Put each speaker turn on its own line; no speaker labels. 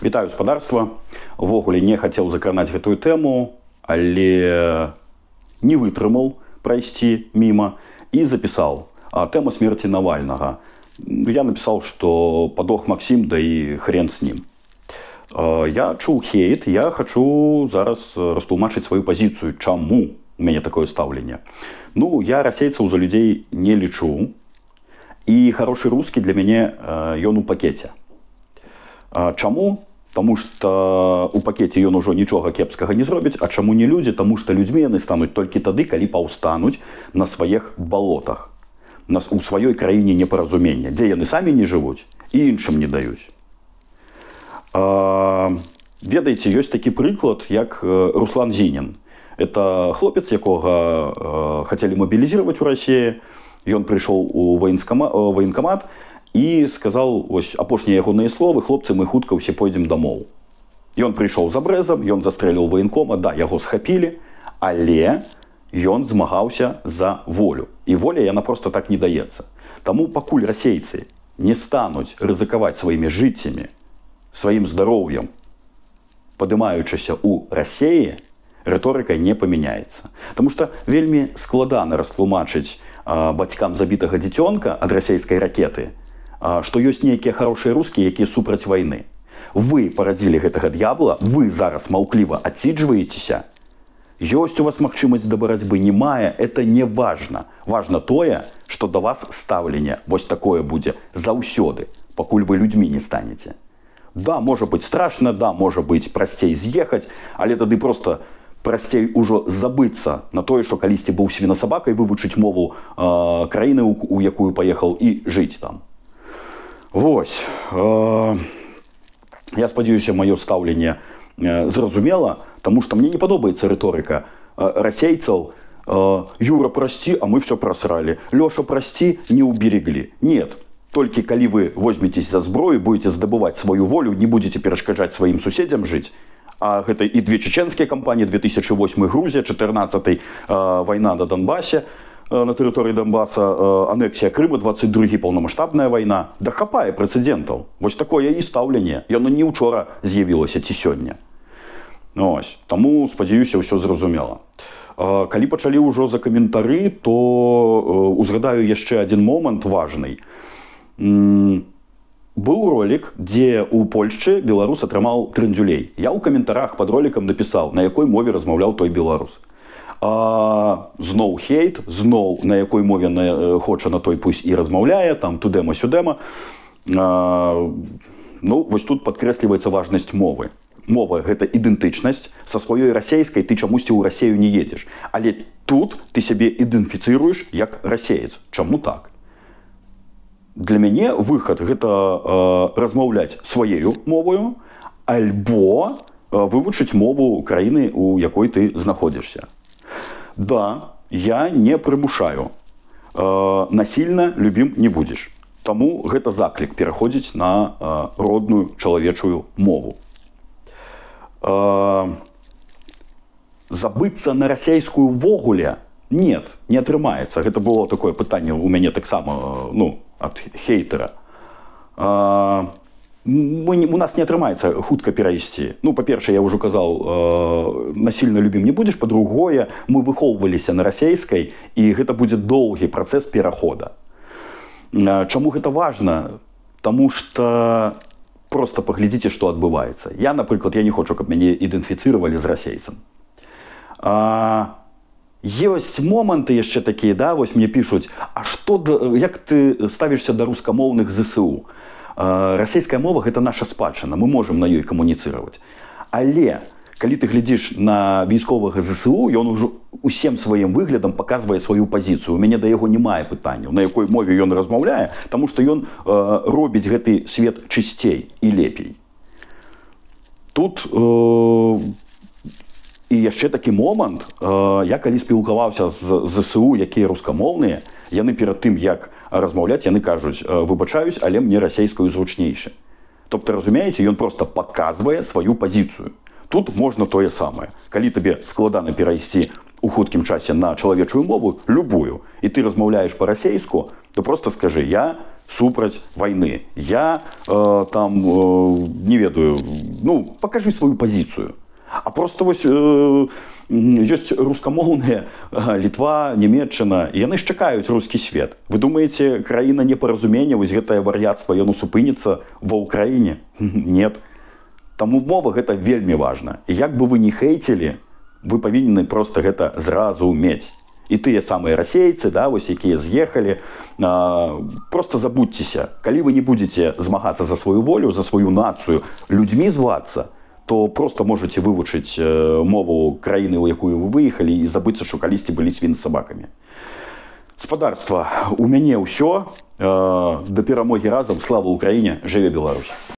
Вітаю спадарства. Увогуле не хацеў закранаць гэтую тэму, але не вытрымаў прайсці міма і запісаў. Тэма смерти Навальнага. Я напісаў, што падох Максім, да і хрен з ним. Я чуў хейт, я хачу зараз растлумачыць сваю пазіцыю, чаму у мяне такое стаўленне. Ну, я расейцаў за людзей не лічу, і хорошы рускі для мяне ён у пакеце. Чаму? Таму што у пакеце ён ужо нічога кепскага не зробіць, а чаму не людзі? Таму што людзьмі яны стануць толькі тады, калі паўстануць на сваіх балотах, у сваёй краіне непаразумення, дзе яны самі не жывуць і іншым не даюць. Ведаеце, ёсць такі прыклад, як Руслан Зінін. Это хлопец, якога хацелі мабілізаваць у Расіі. Ён прыйшоў у военкамат і сказаў, ось апошнія ягоныя словы: хлопцы, мы хутка ўсе пойдзем дамоў. Ён прыйшоў за брэзам, ён застрэліў военкома, да, яго схапілі, але ён змагаўся за волю. І воля яна просто так не даецца. Таму пакуль расейцы не стануць рызыкаваць сваімі жыццямі, сваім здароўем, падымаючыся ў Расіі, рыторыка не памяняецца. Таму што вельмі складана растлумачыць бацькам забітага дзіцёнка ад расейскай ракеты, што ёсць нейкія хорошыя рускія, якія супраць вайны. Вы парадзілі гэтага д'ябла, вы зараз маўкліва адсіджваецеся. Ёсць у вас магчымасць да барацьбы, не мае, это не важна. Важна тое, што да вас стаўленне вось такое будзе заўсёды, пакуль вы людзьмі не станеце. Да, можа быць страшна, да, можа быць прасцей з'ехаць, але тады проста прасцей ужо забыцца на тое, што калісьці быў свінасабакай, вывучыць мову краіны, у якую паехаў, і жыць там. Вось. Я спадзяюся, маё стаўленне зразумела, таму што мне не падобаецца рыторыка расейцаў: Юра, прасці, а мы все просралі. Лёша, прасці, не убереглі. Нет. Толькі калі вы возьметесь за зброю, будете здабываць сваю волю, не будете перашкаджаць сваім суседзям жыць. А гэта і две чеченскія кампаніі, 2008 Грузія, 14 вайна на Донбасе, на тэрыторыі Донбаса, анексія Крыма, 22 паўнамаштабная вайна. Да хапае прэцэдэнтаў. Вось такое і стаўленне. Яно не ўчора з'явілася ці сёння. Ось. Таму, спадзяюся, ўсё зразумела. Калі пачалі ўжо за каментары, то узгадаю яшчэ адзін момант важны. Был ролик, дзе у Польшчы беларус атрымаў трындзюлей. Я ў каментарах пад роликам напісаў, на якой мове размаўляў той беларус. Зноў хейт, зноў на якой мове хоча, на той пусть і размаўляе, там тудэма-сюдэма. Ну, вось тут падкрэсліваецца важнасць мовы. Мова — гэта ідэнтычнасць. Са сваёй расейскай ты чамусьці ў Расею не едзеш. Але тут ты сябе ідэнтыфіцыруеш як расеец. Чаму так? Для мяне выхад — гэта размаўляць сваёю мовою альбо вывучыць мову краіны, у якой ты знаходзішся. Да, я не прымушаю. Насільна любім не будзеш. Таму гэта заклік пераходзіць на родную чалавечую мову. Забыцца на расейскую ввогуле? Нет, не атрымаецца. Гэта было такое пытанне у мяне таксама, ну, ад хейтера. У нас не атрымаецца хутка перайсці. Ну, па-першае, я ўжо казаў, насільна любім не будзеш. Па-другое, мы выхоўваліся на расейскай, і гэта будзе доўгі працэс перахода. Чаму гэта важна? Таму што проста паглядзіце, што адбываецца. Я, напрыклад, я не хочу, каб мяне ідэнтыфіцыравалі з расейцам. Ёсць моманты яшчэ такія, да, вось мне пішуць: а што, як ты ставішся да рускамоўных ЗСУ? Расейская мова — гэта наша спадчына, мы можам на ёй камуніцыраваць. Але калі ты глядзіш на військовага ЗСУ, ён ужо усім сваім выглядам паказвае сваю пазіцыю. У мяне да яго не мае пытанняў, на якой мове ён размаўляе, таму што ён робіць гэты свет чысцей і лепей. Тут і яшчэ такі момант. Я калі спілкаваўся з ЗСУ, якія рускамоўныя, яны перад тым, як размаўляць, яны кажуць: выбачаюсь, але мне расейскую зручнейше. Тобто, разумееце, ён просто паказвае сваю пазіцыю. Тут можна тое самае. Калі табе складана перайсці у хуткім часе на чалавечую мову, любую, і ты размаўляеш па-расейску, то просто скажы: я супраць вайны. Я там, не ведаю, ну, покажи свою позицию. А просто вось ёсць рускамоўныя Літва, Нямецчына, і яны ж чакаюць рускі свет. Вы думаеце, краіна непаразумення, вось гэтае вар'яцтва, яно супыніцца ва ўкраіне? Нет. Таму мова гэта вельмі важна. І як бы вы не хейтілі, вы павінны просто гэта зразумець. І тыя самыя расейцы, да, вось, якія з'ехалі, просто забудьцеся. Калі вы не будзеце змагацца за сваю волю, за сваю нацыю, людзьмі звацца, то просто можете вывучыць мову краіны, у якую вы выехалі, і забыцца, што калісьці былі свіны з сабакамі. Спадарства, у мяне ўсё. Да перамогі разам. Слава Ўкраіне, жыве Беларусь!